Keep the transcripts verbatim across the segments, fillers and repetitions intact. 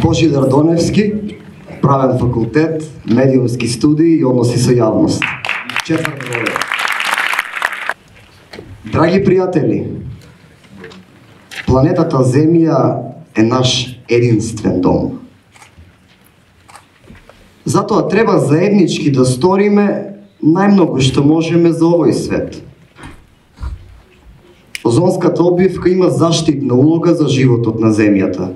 Божидар Доневски, правен факултет, медиумски студии и односи со јавност. Четврта година. Драги пријатели, планетата Земја е наш единствен дом. Затоа треба заеднички да сториме најмногу што можеме за овој свет. Озонската обвивка има заштитна улога за животот на Земјата.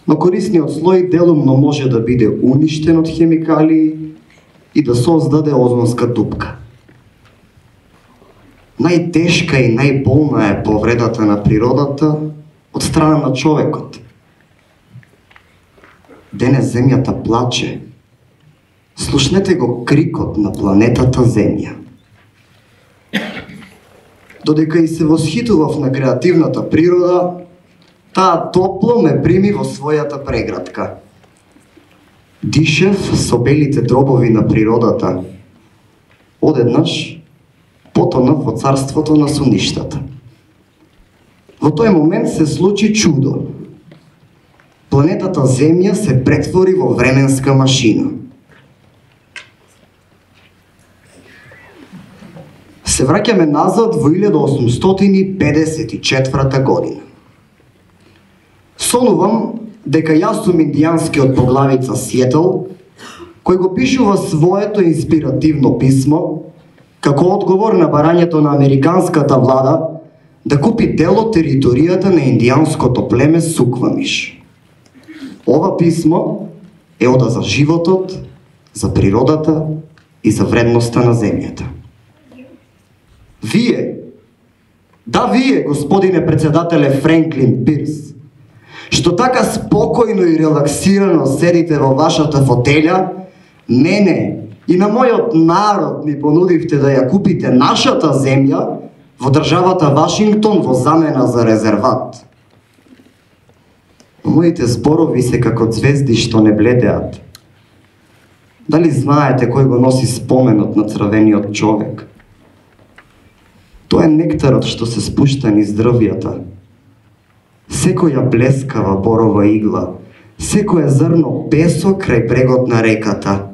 Но корисниот слој делумно може да биде уништен од хемикалии и да создаде озонска дупка. Најтешка и најболна е повредата на природата од страна на човекот. Денес Земјата плаче. Слушнете го крикот на планетата Земја. Додека и се восхитував на креативната природа, таа топло ме прими во својата преградка. Дишев со белите дробови на природата. Одеднаш потонав во царството на суништата. Во тој момент се случи чудо. Планетата Земја се претвори во временска машина. Се враќаме назад во илјада осумстотини педесет и четврта година. Сонувам дека јас сум индијанскиот поглавица Сиетл, кој го пишува своето инспиративно писмо како одговор на барањето на американската влада да купи дел од територијата на индијанското племе Суквамиш. Ова писмо е ода за животот, за природата и за вредноста на Земјата. Вие, да вие, господине председателе Френклин Пирс, што така спокојно и релаксирано седите во вашата фотеља, мене и на мојот народ ни понудивте да ја купите нашата земја во државата Вашингтон во замена за резерват. Моите зборови се како ѕвезди што не бледеат. Дали знаете кој го носи споменот на црвениот човек? Тоа е нектарот што се спушта низ дрвјата. Секоја блескава борова игла, секое зрно песок крај брегот на реката,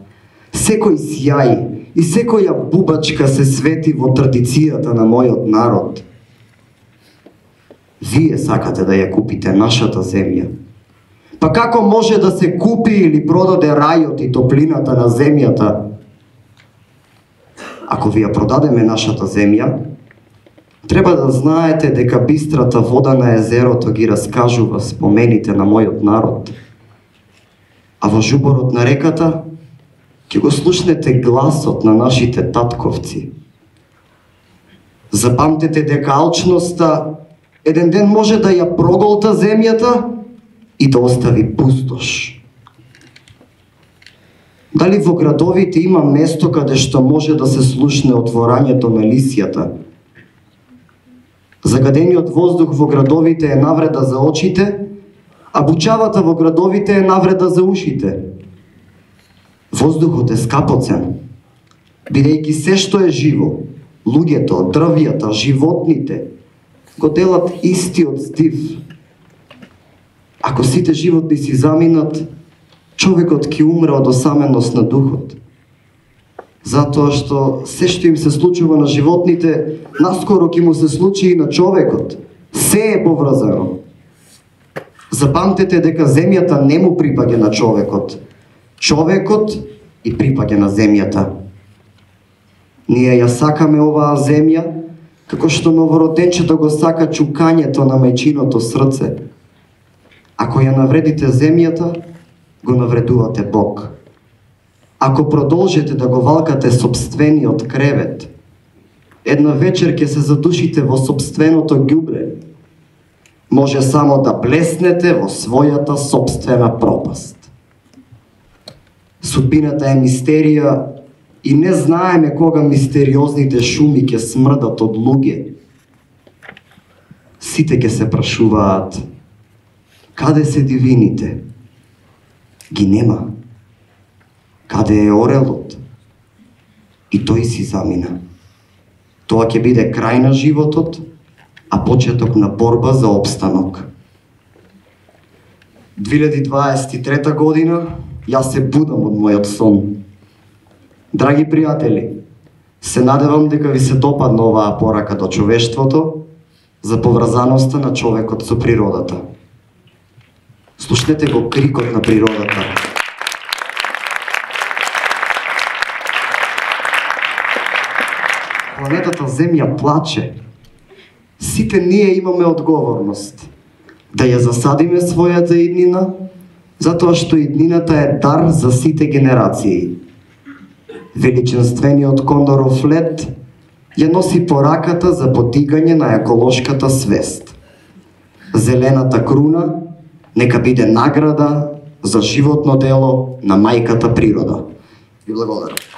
секој сјај и секоја бубачка се свети во традицијата на мојот народ. Вие сакате да ја купите нашата земја. Па како може да се купи или продаде рајот и топлината на земјата? Ако ви ја продадеме нашата земја, треба да знаете дека бистрата вода на езерото ги раскажува спомените на мојот народ. А во жуборот на реката ќе го слушнете гласот на нашите татковци. Запамтете дека алчноста еден ден може да ја проголта земјата и да остави пустош. Дали во градовите има место каде што може да се слушне отворањето на лисјата? Загадениот воздух во градовите е навреда за очите, а бучавата во градовите е навреда за ушите. Воздухот е скапоцен, бидејќи се што е живо, луѓето, дрвјата, животните, го делат истиот стив. Ако сите животни си заминат, човекот ќе умре од осаменост на духот. Затоа што се што им се случува на животните, наскоро ќе му се случи и на човекот. Се е поврзано. Запамтете дека земјата не му припаѓа на човекот. Човекот и припаѓа на земјата. Ние ја сакаме оваа земја, како што новороденчето го сака чукањето на мајчиното срце. Ако ја навредите земјата, го навредувате Бог. Ако продолжите да го валкате собствениот кревет, една вечер ќе се задушите во собственото ѓубре. Може само да блеснете во својата собствена пропаст. Судбината е мистерија и не знаеме кога мистериозните шуми ќе смрдат од луѓе. Сите ќе се прашуваат, каде се дивините? Ги нема. Каде е орелот? И тој си замина. Тоа ќе биде крај на животот, а почеток на борба за опстанок. две илјади дваесет и трета година јас се будам од мојот сон. Драги пријатели, се надевам дека ви се допадна оваа порака до човештвото за поврзаноста на човекот со природата. Слушнете го крикот на природата. Планетата Земја плаче. Сите ние имаме одговорност да ја засадиме својата иднина, затоа што иднината е дар за сите генерации. Величенствениот кондоров лет ја носи пораката за подигање на еколошката свест. Зелената круна нека биде награда за животно дело на мајката природа. Ви благодарам.